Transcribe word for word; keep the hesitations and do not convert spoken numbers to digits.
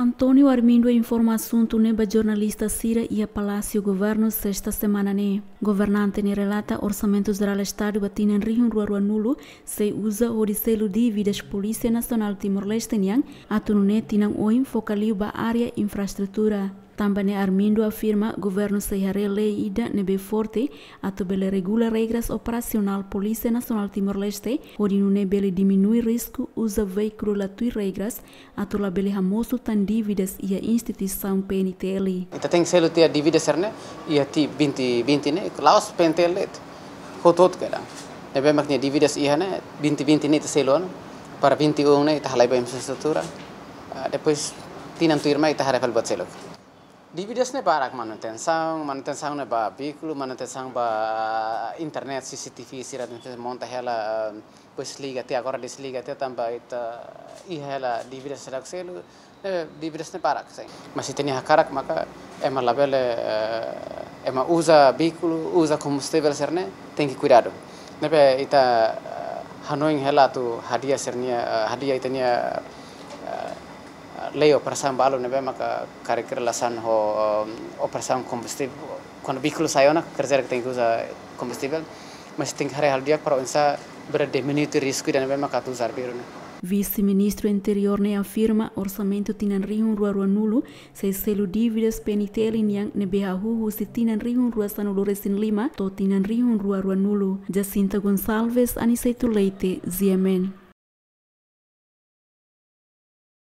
António Armindo informa asuntu ne'e ba jornalista sira iha Palásiu Governu sesta semana ne'e. Governante ne'e relata Orsamentu Jerál Estadu ba tinan rihun rua rua nulu sei uza hodi selu dívidas Polísia Nasionál Timor-Leste nian, atu nune'e tinan oin foka liu ba área infraestrutura. Tanba ne'e Armindo afirma governu sei haree lei ida ne'ebé forte atu bele regula regras operasionál Polísia Nasionál Timor-Leste, hodi nune'e bele diminui risku uza veíkulu la tuir regras, atu labele hamosu tan dívidas iha instituisaun P N T L. Ita tenke selu tiha dívidas sira-ne'e iha tinan vinte vinte ne'e, la'ós P N T L de'it, hotu-hotu kedan. Ne'ebé mak nia dívidas iha ne'e, vinte vinte ne'e ita selu ona, para vinte e um ne'e ita halai ba infraestrutura. Ah, depois tinan tuirmai ita haree fali buat seluk. Dívidas ne'e barak, manutensaun, manutensaun ne'e ba veíkulu, manutensaun ba internet, C C T V sira ne'ebé monta hela, ah, depois liga tiha, agora desliga tiha tanba ita iha hela dívidas sira selu, eh, dívidas ne'e barak, sin. Mas ita-nia hakarak maka ema labele, eh, ema uza veíkulu, uza kombustivel sira-ne'e, tenke kuidadu. Ne'ebé ita, eh, hanoin hela atu hadi'a sira-nia, eh, hadi'a ita-nia, eh, lei operasaun balu ne'ebé maka karik relasaun ho, eh, operasaun kombustivel, kuandu veíkulu sai ona, quer dizer que tenke uza kombustivel, mas tenke haree halo di'ak para oinsá bele diminui risku ida ne'ebé maka atu uza arbiru ne'e. Vise-Ministru Interiór ne'e afirma orsamentu tinan rihun rua rua nulu sei selu dívidas P N T L nian ne'ebé hahú husi tinan rihun rua sanulu resin lima to'o tinan rihun rua rua nulu. Jacinta Gonçalves, Aniceto Leite, G M N.